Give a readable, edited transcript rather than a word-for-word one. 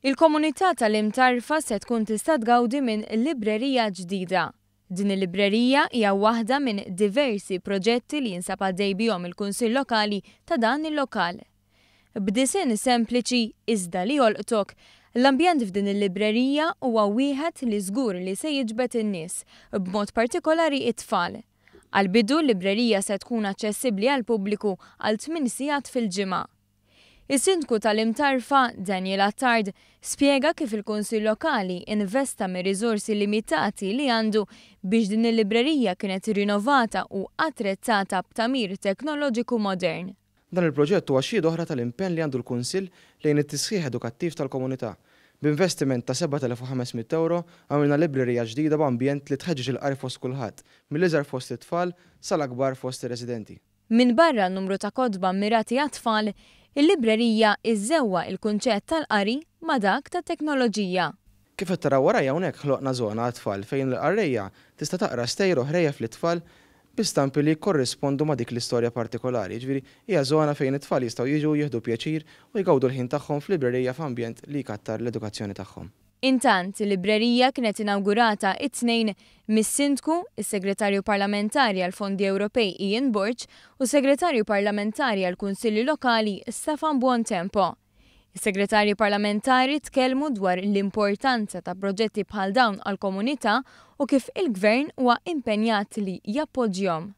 Il-komunità tal-Imtarfa se tkun tista' tgawdi minn librerija ġdida. Din il-librerija hija waħda minn diversi proġetti li jinsab għaddej bihom il-Kunsill Lokali ta' dan il-lokal. B'disinn sempliċi iżda li jolqtok, l-ambjent f'din il-librerija huwa wieħed li żgur li se jiġbed in-nies, b'mod partikolari t-tfal. Għall-bidu l-librerija se tkun aċċessibbli għall-pubbliku għal tminn sigħat fil-ġimgħa. Is-Sindku tal-Imtarfa, Daniel Attard, spjega kif il-Kunsill Lokali investa mir-riżorsi limitati li għandu biex din il-librerija kienet rinovata u attrezzata b'tagħmir teknoloġiku modern. Dan il-proġett huwa xhieda oħra tal-impenn li għandu l-Kunsill lejn it-tisħiħ edukattiv tal-komunità. B'investiment ta' 7,500 ewro għamilna librerija ġdida b'ambjent li tħeġġeġ il-qari fost kulħadd, mill-iżgħar fost it-tfal sal-akbar fost ir-residenti. Minbarra n-numru ta' kotba mmirati għat-tfal, il-librerija iżżewwaq il-kunċett tal-qari ma' dak tat-teknoloġija. Kif qed taraw warajja hawnhekk ħloqna żona għat-tfal fejn l-qarrejja tista' taqra stejjer u ħrejjef lit-tfal bi stampi li jikkorrispondu ma' dik l-istorja partikolari. Jiġifieri hija żona fejn it-tfal jistgħu jiġu jieħdu pjaċir u jgawdu l-ħin tagħhom f'librerija f'ambjent li jkattar l-edukazzjoni tagħhom. Intant, il-librerija kienet inawgurata it-Tnejn mis-Sindku, is-Segretarju Parlamentari għall-Fondi Ewropej Ian Borg u s-Segretarju Parlamentari għall-Kunsilli Lokali Staffan Buontempo. Is-Segretarji Parlamentari tkellmu dwar l-importanza ta' proġetti bħal dawn għall-komunità u kif il-Gvern huwa impenjat li jappoġġjhom.